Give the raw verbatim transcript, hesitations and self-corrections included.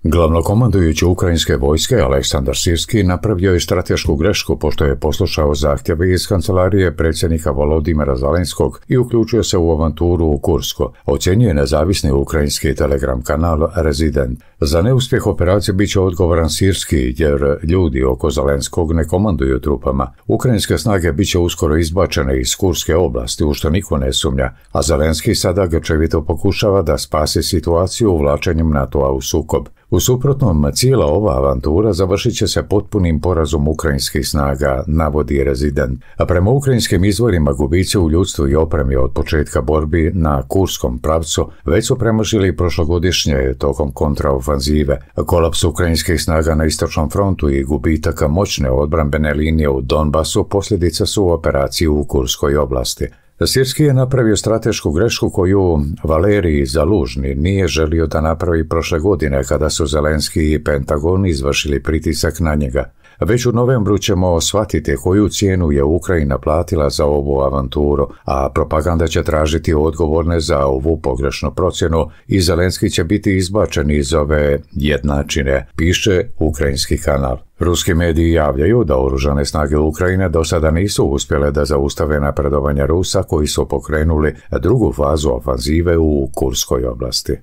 Glavnokomandujući ukrajinske vojske Aleksandar Sirski napravio je stratešku grešku pošto je poslušao zahtjeve iz kancelarije predsjednika Volodimira Zelenskog i uključio se u avanturu u Kursko, ocjenjuje nezavisni ukrajinski telegram kanal Resident. Za neuspjeh operacije bit će odgovoran Sirski jer ljudi oko Zelenskog ne komanduju trupama. Ukrajinske snage bit će uskoro izbačene iz Kurske oblasti, u što niko ne sumnja, a Zelenski sada grčevito pokušava da spasi situaciju uvlačenjem NATO-a u sukob. U suprotnom, cijela ova avantura završit će se potpunim porazom ukrajinskih snaga, navodi Resident. A prema ukrajinskim izvorima gubici u ljudstvu i opremi od početka borbi na Kurskom pravcu već su premašili prošlogodišnje tokom kontraofanzive. Kolaps ukrajinskih snaga na istočnom frontu i gubitaka moćne odbrambene linije u Donbasu posljedica su operacije u Kurskoj oblasti. Sirski je napravio stratešku grešku koju Valerij Zalužni nije želio da napravi prošle godine kada su Zelenski i Pentagon izvršili pritisak na njega. Već u novembru ćemo shvatiti koju cijenu je Ukrajina platila za ovu avanturu, a propaganda će tražiti odgovorne za ovu pogrešnu procjenu i Zelenski će biti izbačen iz ove jednačine, piše ukrajinski kanal. Ruski mediji javljaju da oružane snage Ukrajine do sada nisu uspjele da zaustave napredovanje Rusa koji su pokrenuli drugu fazu ofanzive u Kurskoj oblasti.